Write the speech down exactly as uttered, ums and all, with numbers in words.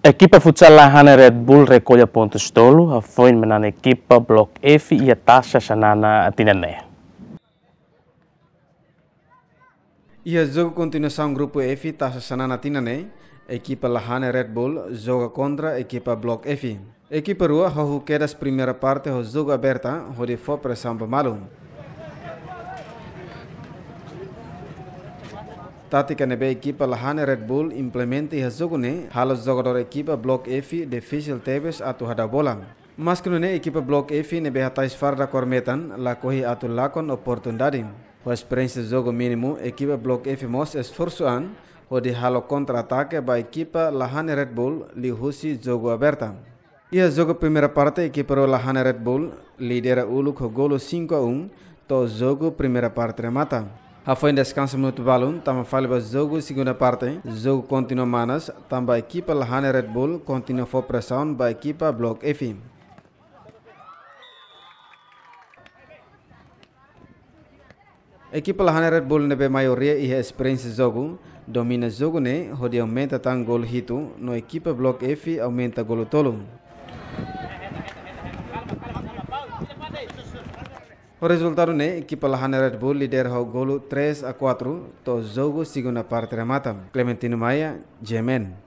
Ekipa futsal Lahane Red Bull rekolla pontus tolu, hafoin manán ekipa Blok F iha Taça Xanana tinan ne'e. Iha jogu kontinuasaun grupu F Taça Xanana tinan ne'e, ekipa Lahane Red Bull joga kontra ekipa Blok F. Ekipa rua hahú kedas primeira parte ho jogu aberta, hodi fó presaun ba malu. Tátika ne'ebé ekipa Lahane Red Bull implementa iha jogu ne'e, halo jogadór ekipa Blok F difisil tebes atu hadau bola. Maske nune'e ekipa Blok F ne'ebé hatais farda kór metan, lakohi atu lakon oportunidade. Ho esperiénsia jogu mínimu, ekipa Blok F mós esforsu an, hodi halo kontra-atake ba ekipa Lahane Red Bull liuhusi jogu aberta. Iha jogu primeira parte, ekipa rua Lahane Red Bull lidera uluk ho golu cinco a um, to'o jogu primeira parte remata. Hafoin deskansa minutu balun, tama fali ba jogu segunda parte, jogu kontinua manas, tanba ekipa Lahane Red Bull kontinua fó presaun ba ekipa Blok F. Ekipa Lahane Red Bull ne'ebé maioria iha esperiénsia jogu, domina jogu ne'e hodi aumenta tan golu hitu, no ekipa Blok F aumenta golu tolu. Ho rezultadu ne'e, ekipa Lahane Red Bull lidera ho golu três a quatro, to'o jogu segunda parte remata. Clementino Maia, G M N.